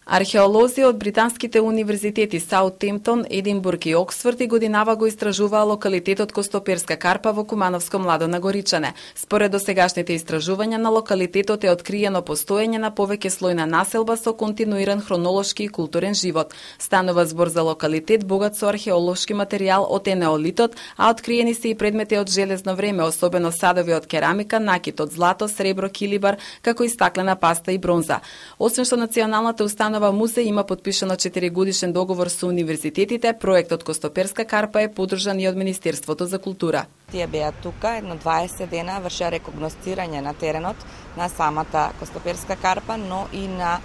Археолози од британските универзитети Саутемптон, Единбург и Оксфорд и годинава го истражуваа локалитетот Костоперска карпа во Кумановско Младо на Горичане. Според досегашните истражувања на локалитетот е откриено постоење на повеќе слојна населба со континуиран хронолошки и културен живот. Станува збор за локалитет богат со археолошки материјал од енеолитот, а откриени се и предмети од железно време, особено садови од керамика, накит од злато, сребро, килибар, како и стаклена паста и бронза. Освен што националната установа музеј има подпишано 4-годишен договор со универзитетите, проектот Костоперска карпа е поддржан и од Министерството за култура. Тие беа тука, едно 20 дена вршеа рекогносцирање на теренот на самата Костоперска карпа, но и на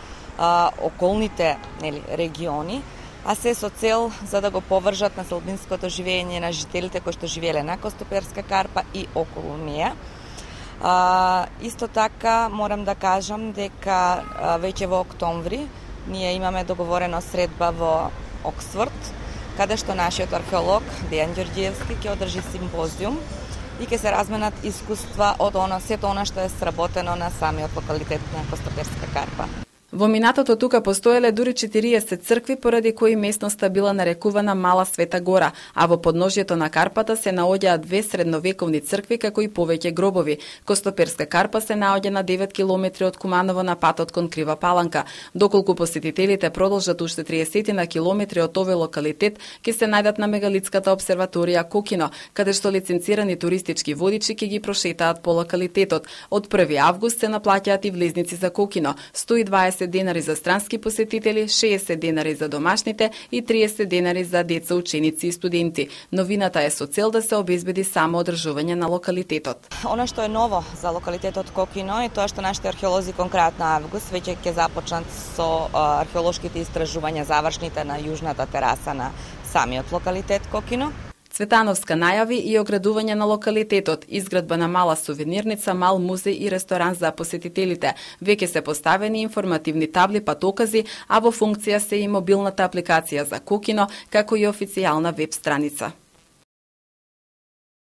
околните региони, а се со цел за да го повржат на следбинското живење на жителите кои што живееле на Костоперска карпа и околу неа. Исто така морам да кажам дека веќе во октомври ние имаме договорена средба во Оксфорд, каде што нашиот археолог Дејан Ѓорѓиевски ќе одржи симпозиум и ќе се разменат искуства од сето она што е сработено на самиот локалитет на Костоперска карпа. Во минатото тука постоеле дури 40 цркви, поради кои местноста била нарекувана Мала Света Гора, а во подножјето на карпата се наоѓаат 2 средновековни цркви како и повеќе гробови. Костоперска карпа се наоѓа на 9 километри од Куманово на патот кон Крива Паланка. Доколку посетителите продолжат уште 30 на километри од овој локалитет, ќе се најдат на мегалитската обсерваторија Кокино, каде што лиценцирани туристички водичи ќе ги прошетаат по локалитетот. Од 1 август се наплаќаат и влезници за Кокино, 120 денари за странски посетители, 60 денари за домашните и 30 денари за деца, ученици и студенти. Новината е со цел да се обезбеди само одржување на локалитетот. Она што е ново за локалитетот Кокино е тоа што нашите археолози кон крајот на август веќе ќе започнат со археолошките истражувања завршните на јужната тераса на самиот локалитет Кокино. Цветановска најави и оградување на локалитетот, изградба на мала сувенирница, мал музеј и ресторан за посетителите. Веќе се поставени информативни табли патокази, а во функција се и мобилната апликација за Кокино, како и официјална веб страница.